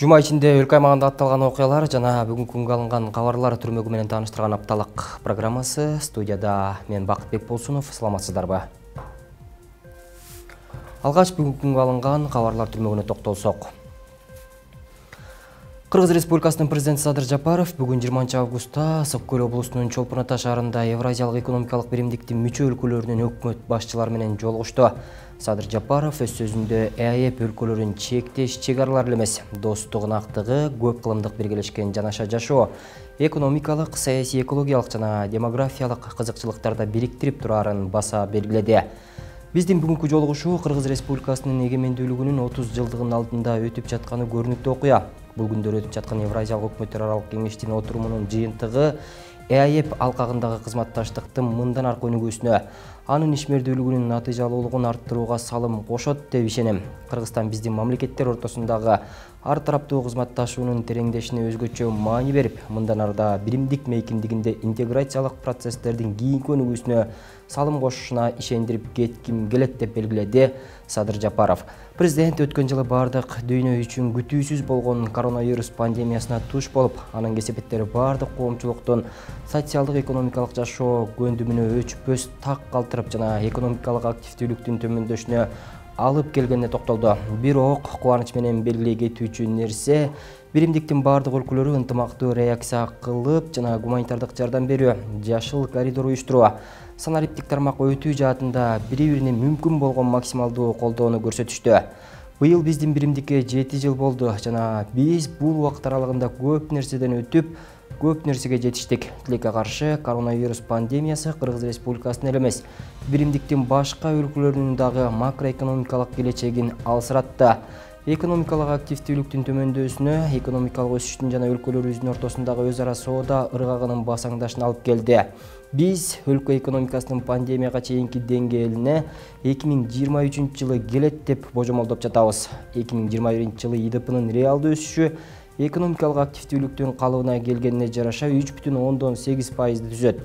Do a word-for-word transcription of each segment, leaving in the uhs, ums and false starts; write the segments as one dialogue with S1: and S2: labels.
S1: Жума ичинде өлкө аймагында атталган окуялар жана бүгүнкү күнгө алынган кабарлар түрмөгү менен тааныштырган апталык программасы. Студияда мен Бакытбек Болсунов. Саламатсыздарбы? Алгач бүгүнкү күнгө алынган кабарлар түрмөгүнө токтолсок. Кыргыз Республикасынын президенти Садыр Жапаров бүгүн жыйырманчы августта Ысык Көл облусунун Чолпон Ата шаарында Евразиялык экономикалык биримдиктин мүчө өлкөлөрүнүн өкмөт башчылары менен жолугушту. Садыр Жапаров өз сөзүндө ЭАЭП өлкөлөрүн чектеш чек аралар эле эмес, достук, ынактыгы, көп кылымдык биргелешкен жанаша жашоо, экономикалык, саясий, экологиялык жана демографиялык кызыкчылыктарда бириктирип турарын баса белгиледи. Биздин бүгүнкү жолугушуу Кыргыз Республикасынын эгемендүүлүгүнүн отуз жылдыгынын алдында өтүп жатканы көрүнүктүү окуя. Бул күндөр өтүп жаткан Евразиялык өкмөттөр аралык кеңештин отурумунун жыйынтыгы ЭАЭП алкагындагы кызматташтыктын мындан аркы өнүгүүсүнө, анын ишмердүүлүгүнүн натыйжалуулугун арттырууга салым кошот деп ишенем. Кыргызстан биздин мамлекеттер ортосундагы ар тараптуу кызматташуунун тереңдешине өзгөчө маани берип, мындан арда биримдик мейкиндигинде интеграциялык процесстердин кийинки өнүгүүсүнө салым кошушуна ишендирип кетким келет деп белгиледи Садыр Жапаров. Президент өткөн жылы бардык дүйнө үчүн күтүүсүз болгон коронавирус пандемиясына туш болуп, анын кесепеттери бардык коомчулуктун социалдык экономикалык жашоо көндүмүнө өчпөс так калтырып жана экономикалык активдүүлүктүн төмөндөшүнө алып келгенине токтолду. Бирок кубаныч менен белгилей кетүүчү нерсе, биримдиктин бардык өлкөлөрү ынтымактуу реакция кылып жана гуманитардык жардам берүү, жашыл коридор уюштуруу, санариптик тармак өтүү жаатында бири-бирине мүмкүн болгон максималдуу колдоону көрсөтүштү. Быйыл биздин биримдикке жети жыл болду жана биз бул убакыт аралыгында көп нерседен өтүп, көп нерсеге жетиштик. Тилекке каршы коронавирус пандемиясы Кыргыз Республикасынын эле эмес, биримдиктин башка өлкөлөрүнүн дагы макроэкономикалык келечегин алсыратты. Экономикалык активдүүлүктүн төмөндөсүнө, экономикалык өсүштүн жана өлкөлөрүбүздүн ортосундагы өз ара соода ыргагынын басаңдашына алып келди. Биз өлкө экономикасынын пандемияга чейинки деңгээлине эки миң жыйырма үчүнчү жылы келет деп божомолдоп жатабыз. эки миң жыйырма биринчи жылы ИДПнын реалдуу өсүшү экономикалык активдүүлүктүн калыбына келгенине жараша үч бүтүн ондон сегиз пайызды түзөт.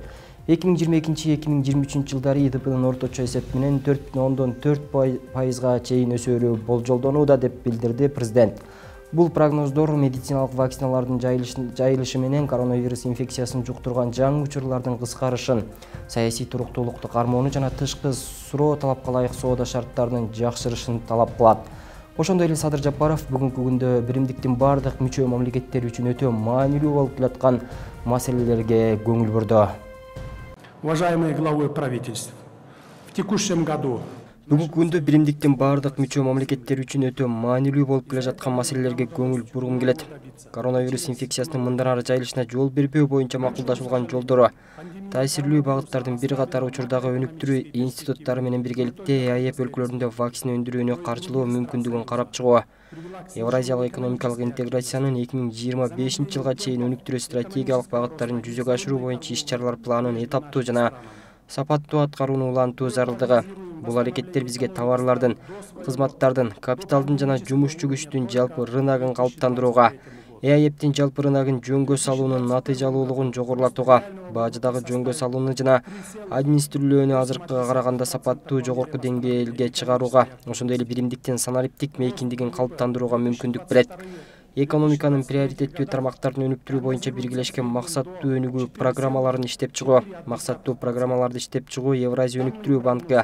S1: эки миң жыйырма экинчи — эки миң жыйырма үчүнчү жылдары ИДПнын орточо эсеп менен төрт бүтүн ондон төрт пайызга чейин өсөөрү болжолдонууда деп билдирди президент. Бул прогноздор медициналык вакциналардын жайылышы менен коронавирус инфекциясын жуктурган жаңы учурлардын кыскарышын, саясий туруктуулукту кармоону жана тышкы суроо талапка ылайык соода шарттарынын жакшырышын талап кылат. Ошондой эле Садыр Жапаров бүгүнкү күндө биримдиктин бардык мүчө мамлекеттери үчүн өтө маанилүү болуп келаткан маселелерге көңүл бурду.
S2: Уважаемые главы правительств, в текущем году
S1: Бүгүнкү күндө биримдиктин бардык мүчө мамлекеттери үчүн өтө маанилүү болуп келе жаткан маселелерге көңүл бургум келет. Коронавирус инфекциясынын мындан ары жайылышына жол бербөө боюнча макулдашылган жолдору, таасирлүү багыттардын бир катар учурдагы өнүктүрүү институттары менен биргеликте ЭАЭП өлкөлөрүндө вакцина өндүрүүнү каржылоо мүмкүндүгүн карап чыгуу, Евразиялык экономикалык интеграциянын эки миң жыйырма бешинчи жылга чейин өнүктүрүү стратегиялык багыттарын жүзөгө ашыруу боюнча иш-чаралар планын этаптуу жана сапаттуу аткарууну улантуу зарылдыгы. Бул аракеттер бизге товарлардын, кызматтардын, капиталдын жана жумушчу күчтүн жалпы рыногун калыптандырууга, ЭАЭПтин жалпы рыногун жөнгө салуунун натыйжалуулугун жогорулатууга, бажыдагы жөнгө салууну жана администрүүлөөнү азыркыга караганда сапаттуу жогорку деңгээлге чыгарууга, ошондой эле биримдиктин санариптик мейкиндигин калыптандырууга мүмкүндүк берет. Экономиканын приоритеттүү тармактарын өнүктүрүү боюнча биргелешкен максаттуу өнүгүү программаларын иштеп чыгуу, максаттуу программаларды иштеп чыгуу Евразия өнүктүрүү банкы,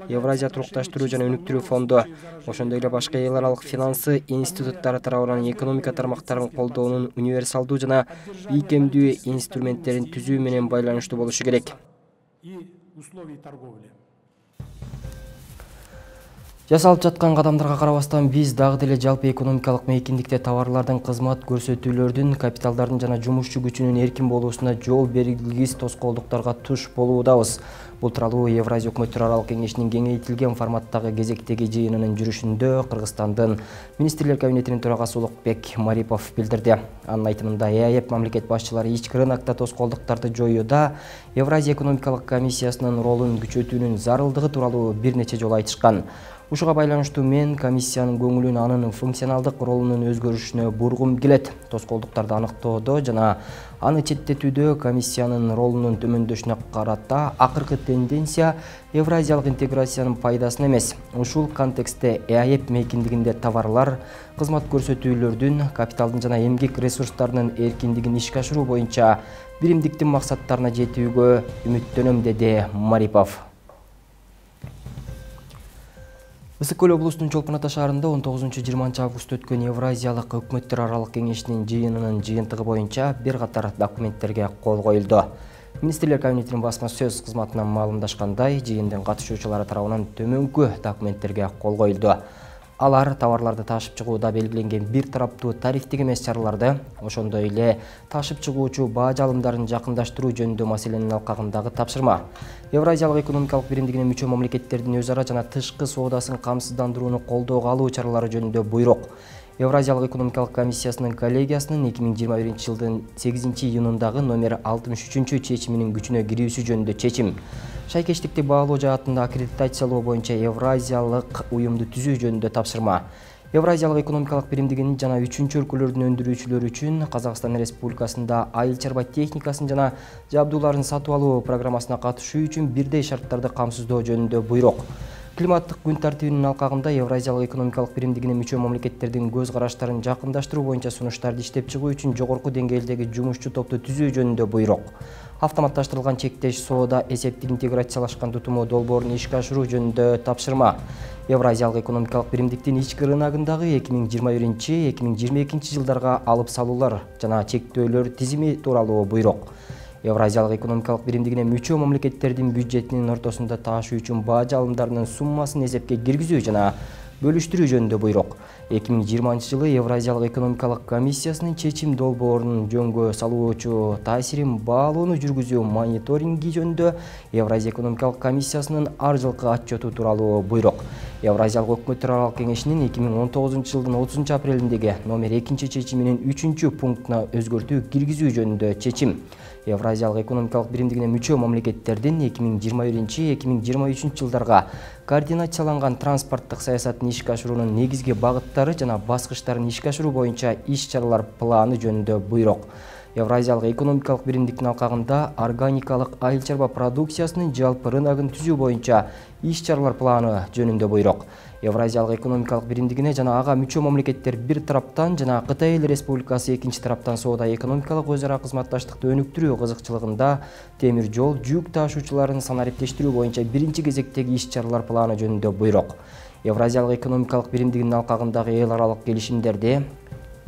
S1: Евразия турукташтыруу жана өнүктүрүү фонду, ошондой эле башка эл аралык финансы институттары тарабынан экономика тармактарын колдоонун универсалдуу жана ийкемдүү инструменттерин түзүү менен байланыштуу болушу керек. Жасалып жаткан кадамдарга карабастан биз дагы деле жалпы экономикалык мейкиндикте товарлардын, кызмат көрсөтүүлөрдүн, капиталдардын жана жумушчу күчүнүн эркин болуусуна жол бергилгис тоскоолдуктарга туш болуудабыз. Бул тууралуу Евразия өкмөттөр аралык кеңешинин кеңейтилген форматтагы кезектеги жыйынынын жүрүшүндө Кыргызстандын министрлер кабинетинин төрагасы Улукбек Марипов билдирди. Анын айтымында ЭАЭП мамлекет башчылары ички рынокто тоскоолдуктарды жоюуда Евразия экономикалык комиссиясынын ролун күчөтүүнүн зарылдыгы тууралуу бир нече жолу айтышкан. Ушуга байланыштуу мен комиссиянын көңүлүн анын функционалдык ролунун өзгөрүшүнө бургум келет. Тоскоолдуктарды аныктоодо жана аны четтетүүдө комиссиянын ролунун төмөндөшүнө карата акыркы тенденция евразиялык интеграциянын пайдасына эмес. Ушул контекстте ЭАЭП мейкиндигинде товарлар, кызмат көрсөтүүлөрдүн, капиталдын жана эмгек ресурстарынын эркиндигин ишке ашыруу боюнча биримдиктин максаттарына жетүүгө үмүттөнөм, деди Марипов. Ысык-Көл облусунун Чолпон Ата шаарында он тогузунчу жыйырманчы август өткөн Евразиялык өкмөттөр аралык кеңешинин жыйынынын жыйынтыгы боюнча бир катар документтерге кол коюлду. Министрлер кабинетинин басма сөз кызматынан маалымдашкандай, жыйындын катышуучулары тарабынан төмөнкү документтерге кол коюлду. Алар товарларды ташып чыгууда белгиленген бир тараптуу тарифтик эмес чараларды, ошондой эле ташып чыгуучу баа жалымдарын жакындаштыруу жөнүндө маселенин алкагындагы тапшырма. Евразиялык экономикалык биримдигине мүчө мамлекеттердин өз ара жана тышкы соодасын камсыздандырууну колдоого алуу чаралары жөнүндө буйрук. Евразиялык экономикалык комиссиясынын коллегиясынын эки миң жыйырма биринчи жылдын сегизинчи июнундагы номер алтымыш үчүнчү чечиминин күчүнө кирүүсү жөнүндө чечим. Шайкештикти баалоо жаатында аккредитациялоо боюнча Евразиялык уюмду түзүү жөнүндө тапшырма. Евразиялык экономикалык биримдигинин жана үчүнчү өлкөлөрдүн өндүрүүчүлөрү үчүн Казакстан Республикасында айыл чарба техникасын жана жабдууларын сатып алуу программасына катышуу үчүн бирдей шарттарды камсыздоо жөнүндө буйрук. Климаттык күн тартибинин алкагында Евразиялык экономикалык биримдигине мүчө мамлекеттердин көз караштарын жакындаштыруу боюнча сунуштарды иштеп чыгуу үчүн жогорку деңгээлдеги жумушчу топту түзүү жөнүндө буйрук. Автоматташтырылган чектеш соода эсептик интеграциялашкан тутуму долбоорун ишке ашыруу жөнүндө тапшырма. Евразиялык экономикалык биримдиктин ички рыногундагы эки миң жыйырма биринчи — эки миң жыйырма экинчи жылдарга алып салуулар жана чектөөлөр тизими тууралуу буйрук. Евразиялык экономикалык биримдигине мүчө мамлекеттердин бюджетинин ортосунда таашуу үчүн баа жалымдарынын суммасын эсепке киргизүү жана бөлүштүрүү жөнүндө буйрук. эки миң жыйырманчы жылы Евразиялык экономикалык комиссиясынын чечим долбоорунун жөнгө салуучу таасирин баалоону жүргүзүү мониторинги жөнүндө Евразия экономикалык комиссиясынын ар жылкы отчету тууралуу буйрук. Евразиялык өкмөттөр аралык кеңешинин эки миң он тогузунчу жылдын отузунчу апрелиндеги номер экинчи чечиминин үчүнчү пунктуна өзгөртүү киргизүү жөнүндө чечим. Евразиялык экономикалык биримдигине мүчө мамлекеттердин эки миң жыйырма биринчи — эки миң жыйырма үчүнчү жылдарга координацияланган транспорттук саясатын ишке ашыруунун негизги багыттары жана баскычтарын ишке ашыруу боюнча иш-чаралар планы жөнүндө буйрук. Евразиялык экономикалык биримдиктин алкагында органикалык айыл чарба продукциясынын жалпы рыногун түзүү боюнча иш-чаралар планы жөнүндө буйрук. Евразиялык экономикалык биримдигине жана ага мүчө мамлекеттер бир тараптан жана Кытай Эл Республикасы экинчи тараптан соода экономикалык өз ара кызматташтыкты өнүктүрүү кызыкчылыгында темир жол жүк таашуучуларын санариптештирүү боюнча биринчи кезектеги иш-чаралар планы жөнүндө буйрук. Евразиялык экономикалык биримдигинин алкагындагы эл аралык келишимдерде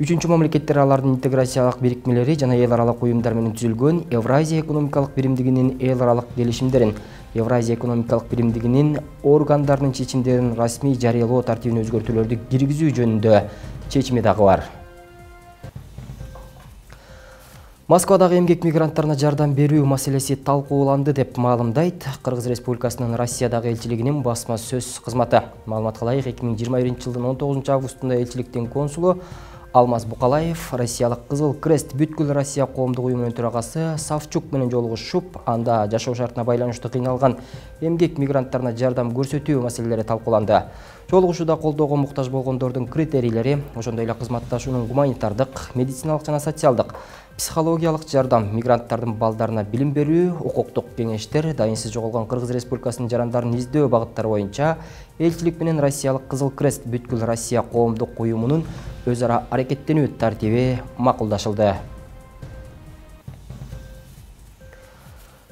S1: үчүнчү мамлекеттер, алардын интеграциялык бирикмелери жана эл аралык уюмдар менен түзүлгөн Евразия экономикалык биримдигинин эл аралык келишимдерин, Евразия экономикалык биримдигинин органдарынын чечимдерин расмий жарыялоо тартибине өзгөртүүлөрдү киргизүү жөнүндө чечими дагы бар. Москвадагы эмгек мигранттарына жардам берүү маселеси талкууланды деп маалымдайт Кыргыз Республикасынын Россиядагы элчилигинин басма сөз кызматы. Маалыматка ылайык, эки миң жыйырма биринчи жылдын он тогузунчу августунда элчиликтин консулу Алмаз Букалаев Россиялык Кызыл Крест бүткүл Россия коомдук уюмунун төрагасы Савчук менен жолугушуп, анда жашоо шартына байланыштуу кыйналган эмгек мигранттарына жардам көрсөтүү маселелери талкууланды. Жолугушууда колдоого муктаж болгондордун критерийлери, ошондой эле кызматташуунун гуманитардык, медициналык жана социалдык, психологиялык жардам, мигранттардын балдарына билим берүү, укуктук кеңештер, дайынсыз жоголгон Кыргыз Республикасынын жарандарын издөө багыттары боюнча элчилик менен Россиялык Кызыл Крест бүткүл Россия коомдук уюмунун өз ара аракеттенүү тартиби макулдашылды.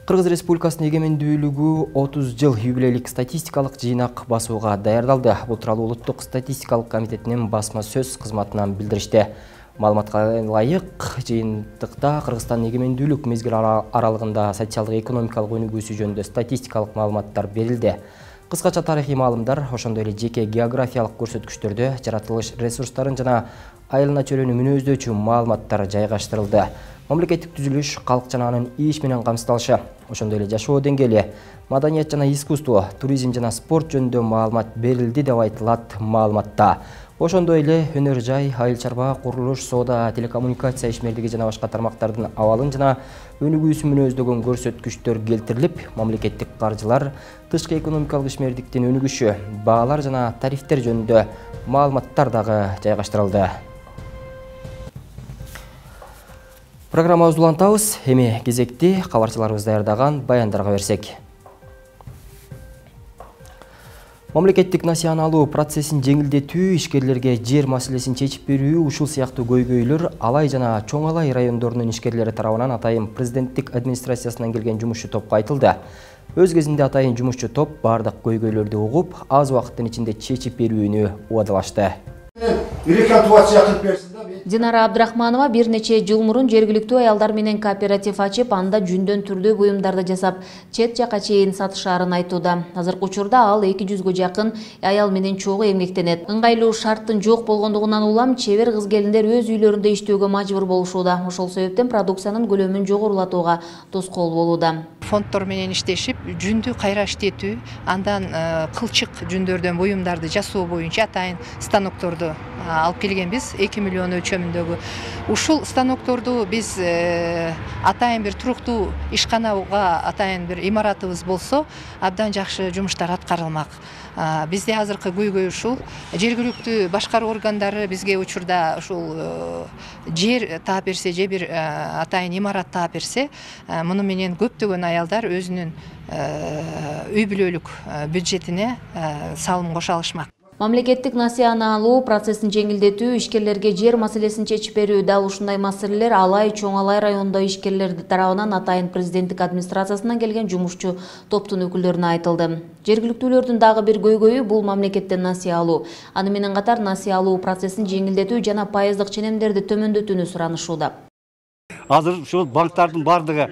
S1: Кыргыз Республикасынын эгемендүүлүгү отуз жыл юбилейлик статистикалык жыйнак басууга даярдалды. Бул тууралуу Улуттук статистикалык комитетинин басма сөз кызматынан билдиришти. Маалыматка ылайык, жыйынтыкта Кыргызстандын эгемендүүлүк мезгили аралыгында социалдык экономикалык өнүгүүсү жөнүндө статистикалык маалыматтар берилди. Кыскача тарыхый маалымдар, ошондой эле жеке географиялык көрсөткүчтөрдө жаратылыш ресурстарын жана айылына чөйрөнү мүнөздөчү маалыматтар жайгаштырылды. Мамлекеттик түзүлүш, калк жана анын иш менен камсыздалышы, ошондой эле жашоо деңгээли, маданият жана искусство, туризм жана спорт жөнүндө маалымат берилди деп айтылат маалыматта. Ошондой эле өнөр жай, айыл чарба, курулуш, соода, телекоммуникация ишмердиги жана башка тармактардын абалын жана өнүгүү өсүмүн өздөгөн көрсөткүчтөр келтирилип, мамлекеттик каржылар, тышкы экономикалык ишмердиктин өнүгүшү, баалар жана тарифтер жөнүндө маалыматтар дагы жайгаштырылды. Программабызды улантабыз. Эми кезекти кабарчыларыбыз даярдаган баяндарга берсек. Мамлекеттик насыяналуу процессин жеңилдетүү, ишкерлерге жер маселесин чечип берүү, ушул сыяктуу көйгөйлөр Алай жана Чоң Алай райондорунун ишкерлери тарабынан атайын президенттик администрациясынан келген жумушчу топко айтылды. Өз кезинде атайын жумушчу топ бардык көйгөйлөрдү угуп, аз убакыттын ичинде чечип берүүнү убадалашты.
S3: Динара Абдрахманова бир нече жыл мурун жергиликтүү аялдар менен кооператив ачып, анда жүндөн түрдүү буюмдарды жасап, чет жака чейин сатышаарын айтууда. Азыркы учурда ал эки жүзгө жакын аял менен чогуу эмгектенет. Ыңгайлуу шарттын жок болгондугунан улам чебер кыз-келиндер өз үйлөрүндө иштөөгө мажбур болушууда. Ошол себептен продукциянын көлөмүн жогорулатууга тоскоол болууда.
S4: Фонддор менен иштешип, жүндү кайра иштетүү, андан кылчык жүндөрдөн буюмдарды жасоо боюнча атайын станокторду алып келгенбиз, эки миллион өлчөмүндөгү. Ушул станокторду биз атайын бир туруктуу ишканага атайын бир имаратыбыз болсо, абдан жакшы жумуштар аткарылмак. Бизде азыркы көйгөй ушул. Жергиликтүү башкаруу органдары бизге учурда ушул жер таап берсе, же бир атайын имарат таап берсе, муну менен көптөгөн аялдар өзүнүн үй бүлөлүк бюджетине салым кошо алышмак.
S3: Мамлекеттик насыяналуу процессин жеңилдетүү, ишкерлерге жер маселесин чечип берүү, дал ушундай маселелер Алай, Чоң Алай районунда ишкерлер тарабынан атайын президенттик администрациясынан келген жумушчу топтун өкүлдөрүнө айтылды. Жергиликтүүлөрдүн дагы бир көйгөйү бул мамлекеттен насыя алуу. Аны менен катар насыя алуу процессин жеңилдетүү жана пайыздык ченемдерди төмөндөтүүнү суранышууда.
S5: Азыр ушул банктардын бардыгы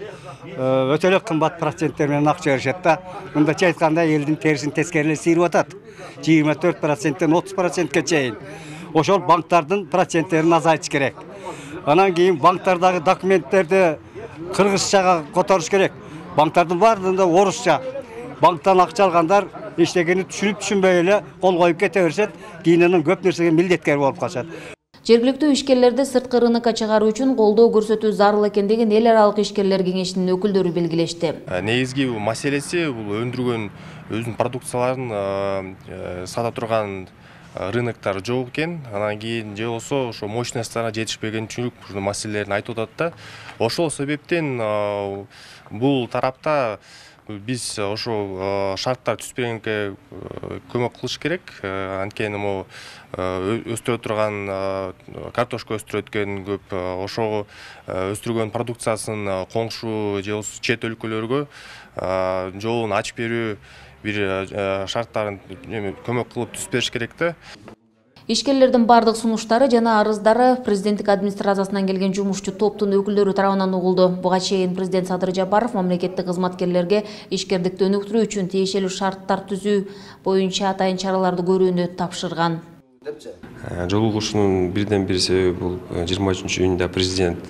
S5: өтө эле кымбат проценттер менен акча беришет да. Мындача айтканда элдин терисин тескерилеп сыйрып атат. жыйырма төрт проценттен отуз процентке чейин. Ошол банктардын проценттерин азайтыш керек. Анан кийин банктардагы документтерди кыргызчага которуш керек. Банктардын бардыгында орусча. Банктан акча алгандар эчтекени түшүнүп түшүнбөй эле кол коюп кете беришет. Кийин анан көп нерсеге милдеткер болуп калышат.
S3: Жергиликтүү ишкерлерди сырткы рынокко чыгаруу үчүн колдоо көрсөтүү зарыл экендигин эл аралык ишкерлер кеңешинин өкүлдөрү белгилешти.
S6: Негизги маселеси бул өндүргөн өзүнүн продукцияларын сата турган рыноктор жок экен. Анан кийин же болсо ошо мощностторуна жетишпеген үчүн ушул маселелерин айтып атат да. Ошол себептен бул тарапта биз ошо шарттар түзбөгөнгө көмөк кылыш керек. Анткени могу өстүрө турган картошка өстүрөт экен көп, ошого өстүргөн продукциясын коңшу же чет өлкөлөргө жолун ачып берүү бир шарттарын көмөк кылып түзүп бериш керек да.
S3: Ишкерлердин бардык сунуштары жана арыздары президенттик администрациясынан келген жумушчу топтун өкүлдөрү тарабынан угулду. Буга чейин президент Садыр Жапаров мамлекеттик кызматкерлерге ишкердикти өнүктүрүү үчүн тиешелүү шарттар түзүү боюнча атайын чараларды көрүүнү тапшырган.
S7: Жолугушуунун бирден бир себеби бул жыйырма үчүнчү июнда президент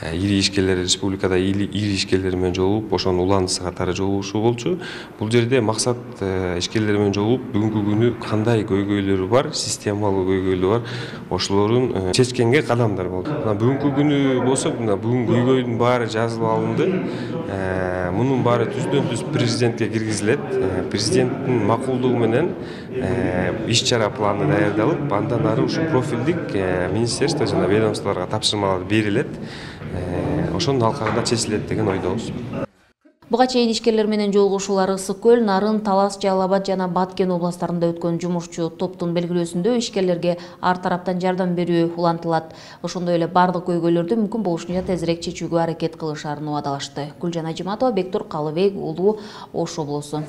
S7: ири ишкерлер республикада ири ишкерлер менен жолугуп, ошонун уландысы катары жолугушуу болчу. Бул жерде максат ишкерлер менен жолугуп, бүгүнкү күнү кандай көйгөйлөрү бар, системалуу көйгөйлөр бар, ошолорун чечкенге кадамдар болду. Бүгүнкү күнү болсо, бүгүн көйгөйдүн баары жазылып алынды. Мунун баары түздөн түз президентке киргизилет. Президенттин макулдугу менен иш-чара планы даярдалып, андан ары ушу профилдик министерство жана ведомстволорго тапшырмалар берилет. Ошонун алкагында чечилет деген ойдобуз.
S3: Буга чейин ишкерлер менен жолугушуулар Ысык көл, Нарын, Талас, Жалал Абад жана Баткен областарында өткөн жумушчу топтун белгилөөсүндө ишкерлерге ар тараптан жардам берүү улантылат. Ошондой эле бардык көйгөйлөрдү мүмкүн болушунча тезирээк чечүүгө аракет кылышаарын убадалашты. Гүлжан Ажиматова, Бектур Калыбек уулу, Ош облусу.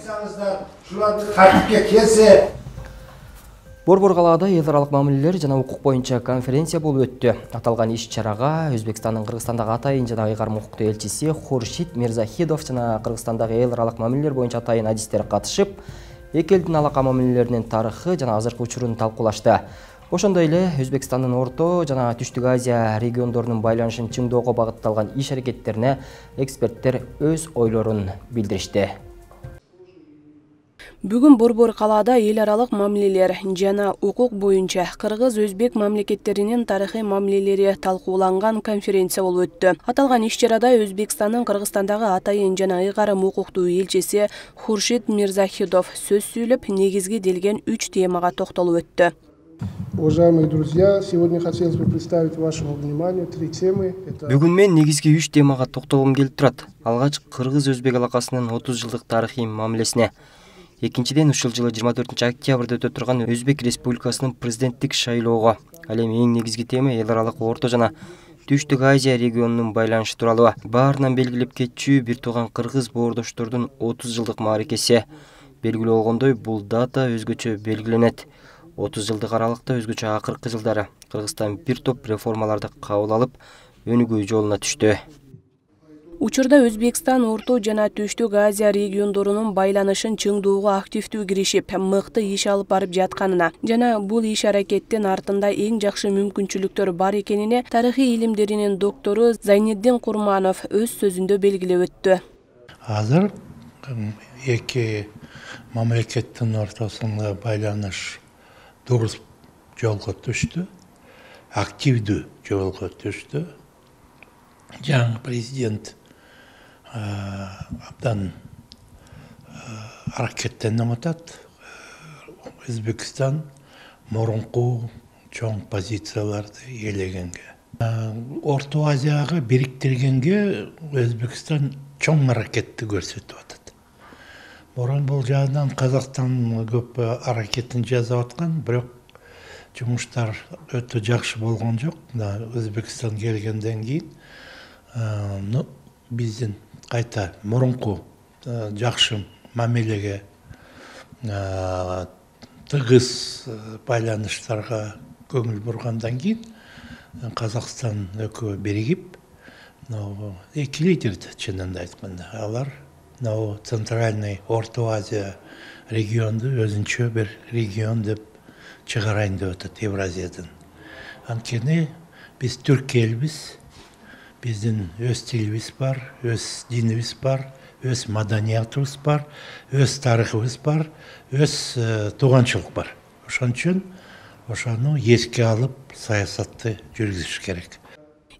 S1: Борбор калаада эл аралык мамилелер жана укук боюнча конференция болуп өттү. Аталган иш-чарага Өзбекстандын Кыргызстандагы атайын жана ыйгарым укуктуу элчиси Хуршид Мирзахидов жана Кыргызстандагы эл аралык мамилелер боюнча атайын адистер катышып, эки элдин алака мамилелеринин тарыхы жана азыркы учурун талкуулашты. Ошондой эле Өзбекстандын Орто жана Түштүк Азия региондорунун байланышын чыңоого багытталган иш-аракеттерине эксперттер өз ойлорун билдиришти.
S8: Бүгүн Борбор калаада эл аралык мамилелер жана укук боюнча кыргыз-өзбек мамлекеттеринин тарыхый мамилелери талкууланган конференция болуп өттү. Аталган иш-чарада Өзбекстандын Кыргызстандагы атайын жана ыйгарым укуктуу элчиси Хуршид Мирзахидов сөз сүйлөп, негизги делген үч темага токтолуп өттү.
S9: Уважаемые друзья, сегодня хотелось бы представить вашему вниманию три темы.
S1: Бүгүн мен негизги үч темага токтолгум келип турат. Алгач кыргыз-өзбек алакасынын отуз жылдык тарыхый мамилесине. Экинчиден ушул жылы жыйырма төртүнчү октябрда өтө турган Өзбек Республикасынын президенттик шайлоого. Ал эми эң негизги тема эл аралык Орто жана Түштүк Азия регионунун байланышы тууралуу. Баарынан белгилеп кетчү бир тууган кыргыз боордоштордун отуз жылдык мааракеси. Белгилүү болгондой, бул дата өзгөчө белгиленет. отуз жылдык аралыкта өзгөчө акыркы жылдары Кыргызстан бир топ реформаларды кабыл алып, өнүгүү жолуна түштү.
S8: Учурда Өзбекстан Орто жана Түштүк Азия региондорунун байланышын чыңдоого активдүү киришип, мыкты иш алып барып жатканына жана бул иш аракеттин артында эң жакшы мүмкүнчүлүктөр бар экенине тарыхый илимдеринин доктору Зайниддин Курманов өз сөзүндө белгилеп өттү.
S10: Азыр эки мамлекеттин ортосунда байланыш дурус жолго түштү, активдүү жолго түштү. Жаңы президент абдан аракеттенип атат. Өзбекстан мурунку чоң позицияларды ээлегенге. Орто Азияга бириктиргенге Өзбекстан чоң аракетти көрсөтүп атат. Мурун бул жагынан Казакстан көп аракетин жасап аткан, бирок жумуштар өтө жакшы болгон жок. Өзбекстан келгенден кийин ну биздин кайта мурунку жакшы мамилеге, тыгыз байланыштарга көңүл бургандан кийин Казакстан экөө биригип, эки лидерди чынында айтканда, алар Центральный Орто Азия регионду өзүнчө бир регион деп чыгарайын деп атат Евразиядан. Анткени биз түрк элбиз, биздин өз тилибиз бар, өз динибиз бар, өз маданиятыбыз бар, өз тарыхыбыз бар, өз тууганчылык бар. Ошон үчүн ошону эске алып саясатты жүргүзүш керек.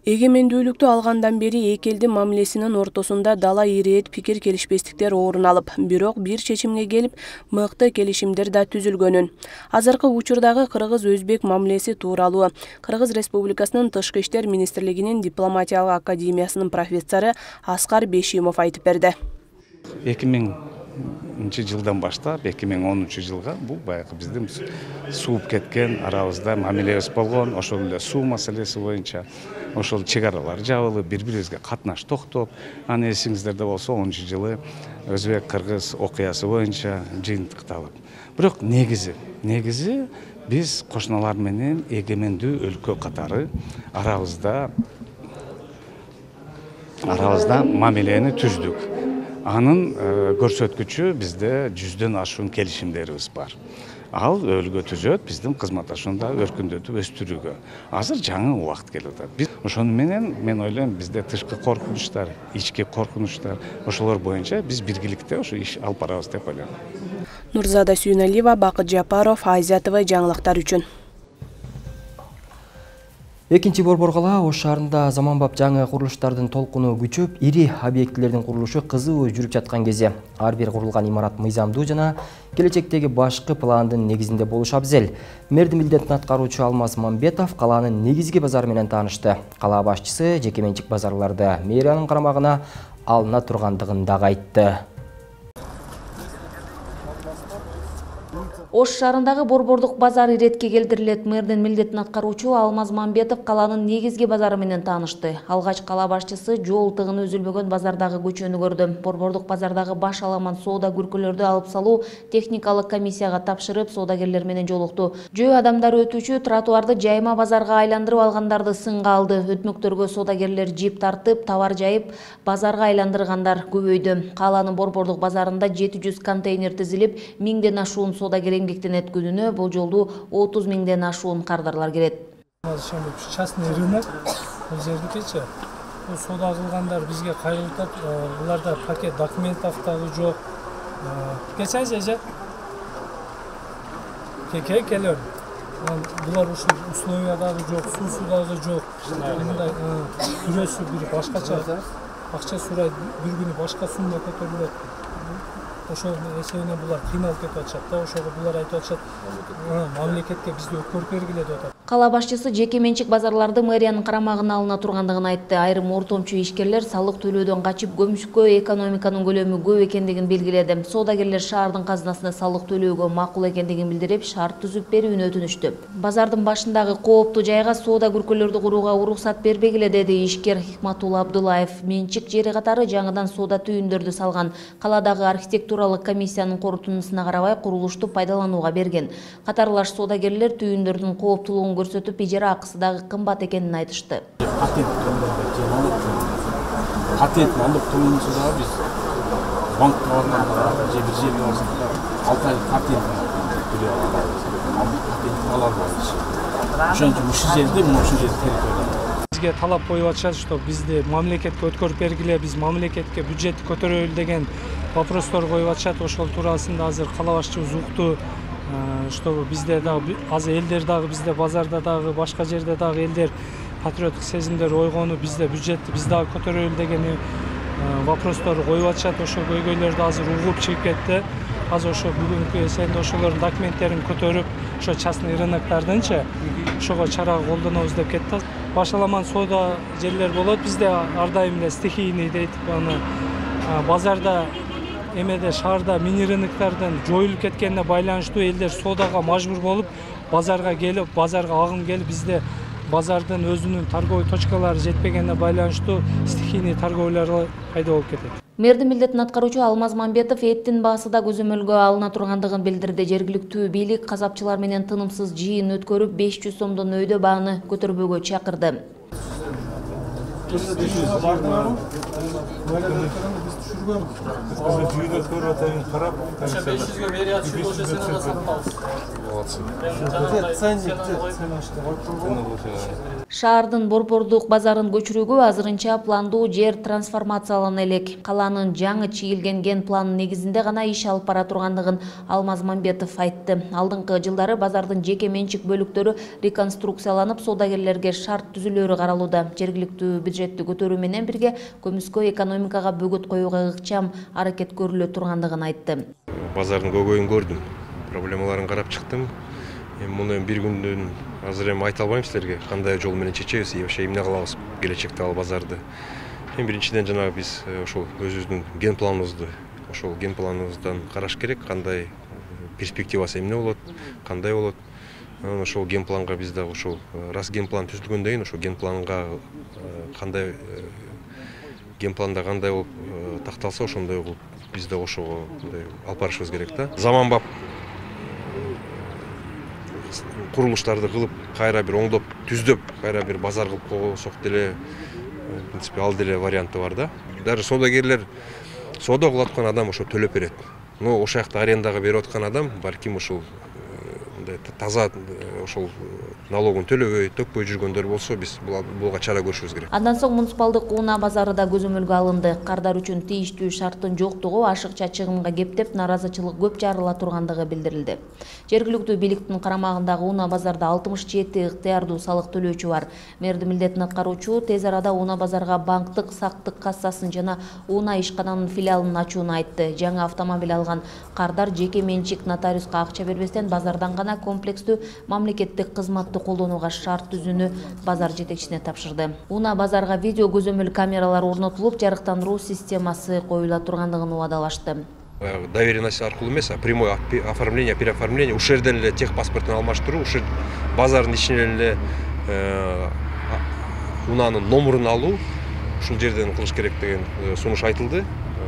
S8: Эгемендүүлүктү алгандан бери эки элдин мамилесинин ортосунда дала ирээт пикир келишпестиктер орун алып, бирок бир чечимге келип, мыкты келишимдер да түзүлгөнүн. Азыркы учурдагы кыргыз-өзбек мамилеси тууралуу Кыргыз Республикасынын Тышкы иштер министрлигинин дипломатиялык академиясынын профессору Аскар Бешимов айтып берди.
S11: эки миңинчи жылдан баштап эки миң онунчу жылга бул баягы биздин сууп кеткен арабызда мамилебиз болгон, ошол эле суу маселеси боюнча ошол чек аралар жабылып, бири-бирибизге катнаш токтоп, аны эсиңиздерде болсо онунчу жылы Өзбек-Кыргыз окуясы боюнча жыйынтыкталып. Бирок негизи, негизи биз кошуналар менен эгемендүү өлкө катары арабызда арабызда мамилени түздүк. Анын көрсөткүчү бизде жүздөн ашуун келишимдерибиз бар. Ал өлгө түзөт биздин кызматташууну өркүндөтүп өстүрүүгө. Азыр жаңы убакыт келип атат. Биз ошону менен мен ойлойм бизде тышкы коркунучтар, ички коркунучтар, ошолор боюнча биз биргиликте ошо иш алып барабыз деп ойлойм.
S8: Нурзада Сүйүналиева, Бакыт Жапаров, Азия ТВ жаңылыктар үчүн.
S1: Экинчи Борбор кала Ош шаарында заманбап жаңы курулуштардын толкуну күчөп, ири объектилердин курулушу кызуу жүрүп жаткан кезде ар бир курулган имарат мыйзамдуу жана келечектеги башкы пландын негизинде болушу абзел. Мэрдин милдетин аткаруучу Алмаз Мамбетов каланын негизги базары менен таанышты. Кала башчысы жеке менчик базарларды мэриянын карамагына алына тургандыгын дагы айтты.
S3: Ош шаарындагы Борбордук базар иретке келтирилет. Мэрдин милдетин аткаруучу Алмаз Мамбетов каланын негизги базары менен таанышты. Алгач кала башчысы жол тыгыны үзүлбөгөн базардагы көчөнү көрдү. Борбордук базардагы баш аламан соода күркөлөрдү алып салуу техникалык комиссияга тапшырып, соодагерлер менен жолукту. Жөө адамдар өтүүчү тротуарды жайма базарга айландырып алгандарды сынга алды. Өтмөктөргө соодагерлер жип тартып, товар жайып, базарга айландыргандар көбөйдү. Каланын Борбордук базарында жети жүз контейнер тизилип, миңден ашуун соодагер эмгектенет күнүнө бул жолду отуз миңден ашуун кардарлар келет.
S12: Частный рынок бул жердикичи. Бул соода кылгандар бизге кайрылтат, буларда пакет документов дагы жок. Кечен эже Кеке келер. Булар ушул условия дагы жок, суусу дагы жок. Мындай күрөсү бир башкача. Акча сурайт, бир күнү башка сумма көтөрүлөт. Ошол эсебинен булар кыйналып кетип атышат да. Ошого булар айтып атышат, мамлекетке бизди өткөрүп бергиле деп атат.
S3: Кала башчысы жеке менчик базарларды мэриянын карамагына алына тургандыгын айтты. Айрым ортомчу ишкерлер салык төлөөдөн качып көмүшкө экономиканын көлөмү көп экендигин белгиледи. Соодагерлер шаардын казынасына салык төлөөгө макул экендигин билдирип, шарт түзүп берүүнү өтүнүштү. Базардын башындагы кооптуу жайга соода күркөлөрдү курууга уруксат бербегиле деди ишкер Хикматулла Абдуллаев. Менчик жери катары жаңыдан соода түйүндөрдү салган. Каладагы архитектуралык комиссиянын корутундусуна карабай курулушту пайдаланууга берген. Катарлаш соодагерлер түйүндөрдүн кооптуулугун көрсөтүп, ижара акысы дагы кымбат экенин айтышты.
S13: Патент патент алып тургунсу дагы биз банкка барганда же бир жерге барсак да алты айлык патент төлөп алабыз. Патент ала албайбыз. Ошон үчүн ушул жерде мына ушул жерде территория.
S12: Бизге талап коюп атышат, что бизди мамлекетке өткөрүп бергиле, биз мамлекетке бюджетти көтөрөлү деген вопростор коюп атышат. Ошол туурасында азыр кала башчыбыз укту, что бизде дагы азыр элдер дагы бизде базарда дагы башка жерде дагы элдер патриоттук сезимдер ойгонуп, бизде бюджетти биз дагы көтөрөлү деген вопростор коюп атышат. Ошол көйгөйлөрдү азыр угуп чыгып кетти. Азыр ошо бүгүнкү эсенде ошолордун документтерин көтөрүп, ошо частный рыноктардынчы ошого чара колдонобуз деп кетти. Башаламан соода жерлер болот. Бизде ар дайым эле стихийный дейт, аны базарда эмеде шаарда мини рыноктардын жоюлуп кеткенине байланыштуу элдер соодага мажбур болуп, базарга келип, базарга агым келип, бизде базардын өзүнүн торговый точкалары жетпегенине байланыштуу стихийный торговлялар пайда болуп кетет.
S3: Мэрдин милдетин аткаруучу Алмаз Мамбетов эттин баасы да көзөмөлгө алына тургандыгын билдирди. Жергиликтүү бийлик казапчылар менен тынымсыз жыйын өткөрүп, беш жүз сомдон өйдө бааны көтөрбөөгө чакырды. Шаардын борбордук базарын көчүрүүгө азырынча пландуу жер трансформациялана элек. Каланын жаңы чийилген ген планын негизинде гана иш алып бара тургандыгын Алмаз Мамбетов айтты. Алдыңкы жылдары базардын жеке менчик бөлүктөрү реконструкцияланып, соодагерлерге шарт түзүлөрү каралууда. Жергиликтүү бюджетти көтөрүү менен бирге көмүскө экономикага бөгөт коюуга ыкчам аракет көрүлө тургандыгын айтты.
S7: Базардын көйгөйүн көрдүм, проблемаларын карап чыктым. Муну бир күндөн азыр эми айта албайм силерге кандай жол менен чечебиз, вообще эмне кылабыз келечекте ал базарды. Эми биринчиден жанагы биз ошол өзүбүздүн ген планыбызды, ошол ген планыбыздан караш керек, кандай перспективасы эмне болот, кандай болот. Ошол ген планга биз дагы ошол раз ген план түзүлгөндөн кийин ошол ген планга кандай ген планда кандай болуп такталса ошондой кылып биз да ошого алып барышыбыз керек да. Заманбап курулуштарды кылып, кайра бир оңдоп, түздөп, кайра бир базар кылып койсок деле, в принципе, ал деле варианты бар да. Даже соодагерлер соода кылып аткан адам ошо төлөп берет. Но ошол жакта арендага берип аткан адам балким ошол таза ошол налогун төлөбөй, төкпөй жүргөндөр болсо, биз буга чара көрүшүбүз керек.
S3: Андан соң муниципалдык унаа базары да көзөмөлгө алынды. Кардар үчүн тийиштүү шарттын жоктугу ашыкча чыгымга кептеп, наразычылык көп жарыла тургандыгы билдирилди. Жергиликтүү бийликтин карамагындагы унаа базарда алтымыш жети ыктыярдуу салык төлөөчү бар. Мэрдин милдетин аткаруучу тез арада унаа базарга банктык, сактык кассасын жана унаа ишкананын филиалын ачууну айтты. Жаңы автомобиль алган Кардар жеке менчик нотариуска акча бербестен базардан гана комплекстүү мамлекеттик кызматты колдонууга шарт түзүүнү базар жетекчисине тапшырды. Унаа базарга видео көзөмөл камералар орнотулуп, жарыктандыруу системасы коюла тургандыгын убадалашты.
S7: Доверенность аркылуу эмес, а прямое оформление, переоформление, ушул жерден эле техпаспортун алмаштыруу, ушул базардын ичинен эле унаанын номерун алуу, ушул жерден кылыш керек деген сунуш айтылды.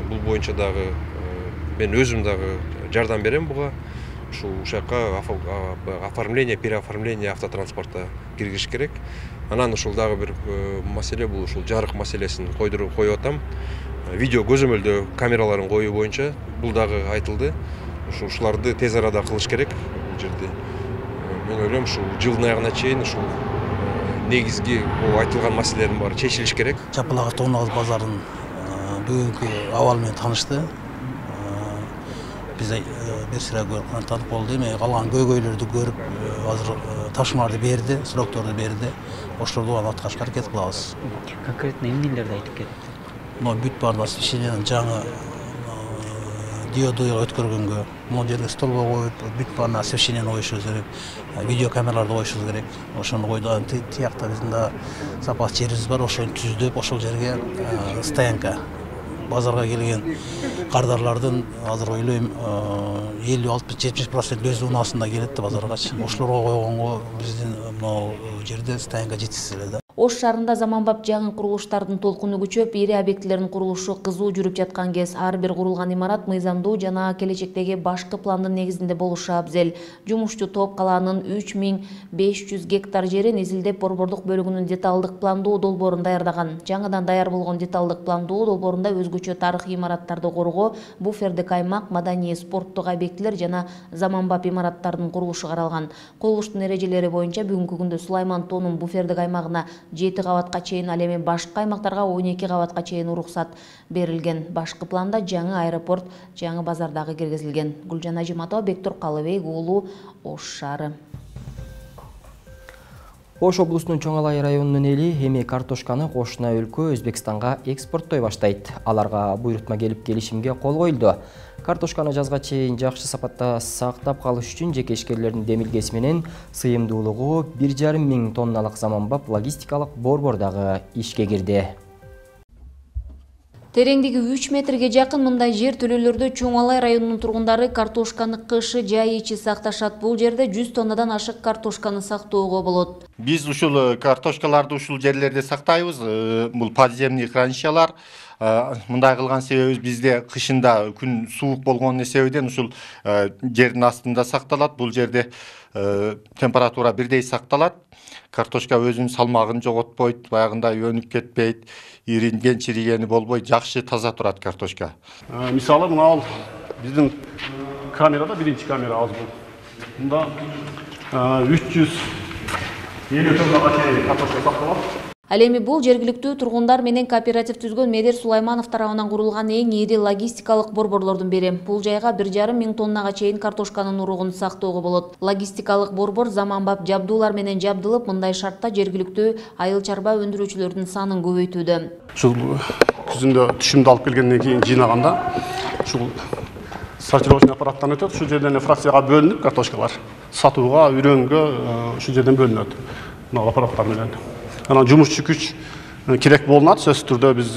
S7: Бул боюнча дагы мен өзүм дагы жардам берем буга. Ушул ушакка оформление, переоформление автотранспорта киргизиш керек. Анан ушул дагы бир маселе бул ушул жарык маселесин койдуруп коюп атам. Видео көзөмөлдөө камераларын коюу боюнча бул дагы айтылды. Ушул ушуларды тез арада кылыш керек бул жерде. Мен ойлойм, ушул жылдын аягына чейин ушул негизги бул айтылган маселелердин баары чечилиш керек.
S14: Чапал Ак базарынын бүгүнкү абалы менен таанышты. биз бир сыра кантанып болду. Эми калган көйгөйлөрдү көрүп, азыр тапшырмаларды берди, срокторду берди. Ошолорду аткарышка аракет кылабыз.
S15: Конкретно эмнелерди айтып кетти?
S14: Но бүт баардык освещениянын жаңы диоду өткөргөнгө, могу жерге столбо коюп, бүт баарын освещенияны коюшубуз керек, видео камераларды коюшубуз керек. Ошону койду. Тиякта биздин да запас жерибиз бар, ошону түздөп, ошол жерге стоянка. Базарга келген кардарлардын азыр ойлойм элүү алтымыш жетимиш процент өз унаасында келет да базаргачы. Ошолорго койгонго биздин могу жерде стоянка жетишсиз эле да.
S3: Ош шаарында заманбап жаңы курулуштардын толкуну күчөп, ири объектилердин курулушу кызуу жүрүп жаткан кез ар бир курулган имарат мыйзамдуу жана келечектеги башкы пландын негизинде болушу абзел. Жумушчу топ калаанын үч миң беш жүз гектар жерин изилдеп борбордук бөлүгүнүн деталдык пландуу долбоорун даярдаган. Жаңыдан даяр болгон деталдык пландуу долбоорунда өзгөчө тарыхый имараттарды коргоо, буфердик аймак, маданий спорттук объектилер жана заманбап имараттардын курулушу каралган. Курулуштун эрежелери боюнча бүгүнкү күндө Сулайман Тоонун буфердик аймагына жети кабатка чейин, ал эми башкы аймактарга он эки кабатка чейин уруксат берилген. Башкы планда жаңы аэропорт, жаңы базар дагы киргизилген. Гүлжан Ажыматова, Бектур Калыбек уулу, Ош шаары.
S1: Ош облусунун Чоң Алай районунун эли эми картошканы кошуна өлкө Өзбекстанга экспорттой баштайт. Аларга буйрутма келип келишимге кол коюлду. Картошканы жазга чейин жакшы сапатта сактап калыш үчүн жеке ишкерлердин демилгеси менен сыйымдуулугу бир жарым миң тонналык заманбап логистикалык борбор дагы ишке кирди.
S3: Тереңдиги үч метрге жакын мындай жер төлөлөрдө Чоң Алай районунун тургундары картошканы кышы жай ичи сакташат. Бул жерде жүз тоннадан ашык картошканы сактоого болот.
S16: Биз ушул картошкаларды ушул жерлерде сактайбыз. Бул подземный хранилищалар. Мындай кылган себебибиз бизде кышында күн суук болгон себептен ушул жердин астында сакталат. Бул жерде температура бирдей сакталат. Картошка өзүнүн салмагын жоготпойт, баягындай өнүп кетпейт, иринген, чиригени болбойт, жакшы таза турат картошка.
S17: Мисалы мына ал биздин камерада биринчи камера аз бул. Мында үч жүз элүү тоннага чейин картошка сакталат.
S3: Ал эми бул жергиликтүү тургундар менен кооператив түзгөн Медер Сулайманов тарабынан курулган эң ири логистикалык борборлордун бири. Бул жайга бир жарым миң тоннага чейин картошканын уругун сактоого болот. Логистикалык борбор заманбап жабдуулар менен жабдылып, мындай шартта жергиликтүү айыл чарба өндүрүүчүлөрдүн санын көбөйтүүдө.
S17: Ушул күзүндө түшүмдү алып келгенден кийин жыйнаганда ушул сортировочный аппараттан өтөт. Ушул жерден фракцияга бөлүнүп картошкалар сатууга, үрөнгө ушул жерден бөлүнөт. Мына аппараттар менен. Анан жумушчу күч керек болунат. Сөзсүз түрдө биз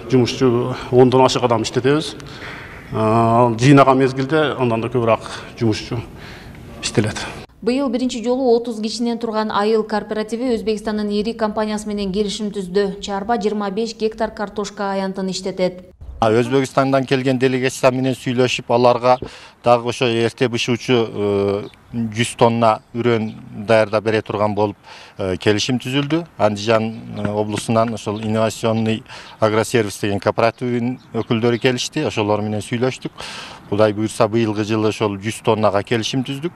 S17: жумушчу ондон ашык адам иштетебиз. Жыйнаган мезгилде андан да көбүрөөк жумушчу иштелет.
S3: Быйыл биринчи жолу отуз кишинен турган айыл кооперативи Өзбекстандын ири компаниясы менен келишим түздү. Чарба жыйырма беш гектар картошка аянтын иштетет.
S16: Өзбекстандан келген делегация менен сүйлөшүп, аларга дагы ошо эрте бышуучу жүз тонна үрөн даярдап бере турган болуп келишим түзүлдү. Андижан облусунан ошол инновационный агросервис деген кооперативдин өкүлдөрү келишти. Ошолор менен сүйлөштүк. Кудай буйрса быйылгы жылы ошол жүз тоннага келишим түздүк.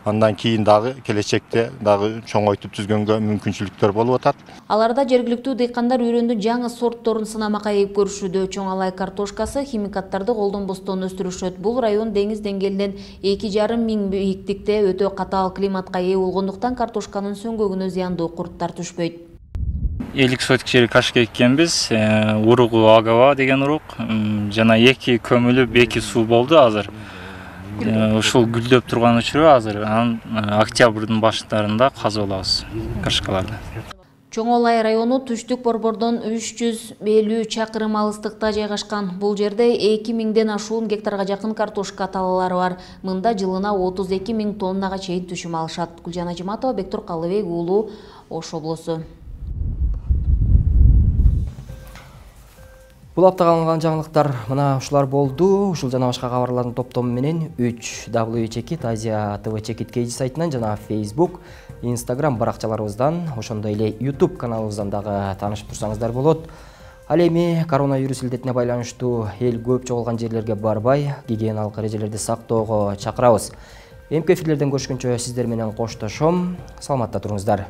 S16: Андан кийин дагы келечекте дагы чоңойтуп түзгөнгө мүмкүнчүлүктөр болуп атат.
S3: Аларда жергиликтүү дыйкандар үрөндүн жаңы сортторун сынамакка ийип көрүшүүдө. Чоң Алай картошкасы химикаттарды колдонбостон өстүрүшөт. Бул район деңиз деңгээлинен эки жарым миң бийиктикте өтө катаал климатка ээ болгондуктан картошканын сөңгөгүнө зыяндуу курттар түшпөйт.
S18: элүү сотик жери кашка эккенбиз. Уругу Агава деген урук жана эки көмүлүп эки суу болду азыр. Ушул гүлдөп турган учуру азыр анан октябрдын баштарында казып алабыз кашкаларды.
S3: Чоң Алай району түштүк борбордон үч жүз элүү чакырым алыстыкта жайгашкан. Бул жерде эки миңден ашуун гектарга жакын картошка талалары бар. Мында жылына отуз эки миң тоннага чейин түшүм алышат. Гүлжан Ажыматова, Бектур Калыбек уулу, Ош облусу.
S1: Бул аптага алынган жаңылыктар мына ушулар болду. Ушул жана башка кабарлардын топтому менен үч дабл ю чекит Азия ТВ Чекит Кейжи сайтынан жана Facebook, Instagram баракчаларыбыздан, ошондой эле YouTube каналыбыздан дагы таанышып турсаңыздар болот. Ал эми коронавирус илдетине байланыштуу эл көп чогулган жерлерге барбай, гигиеналык эрежелерди сактоого чакырабыз. Эми эфирлерден көрүшкөнчө сиздер менен коштошом. Саламатта туруңуздар.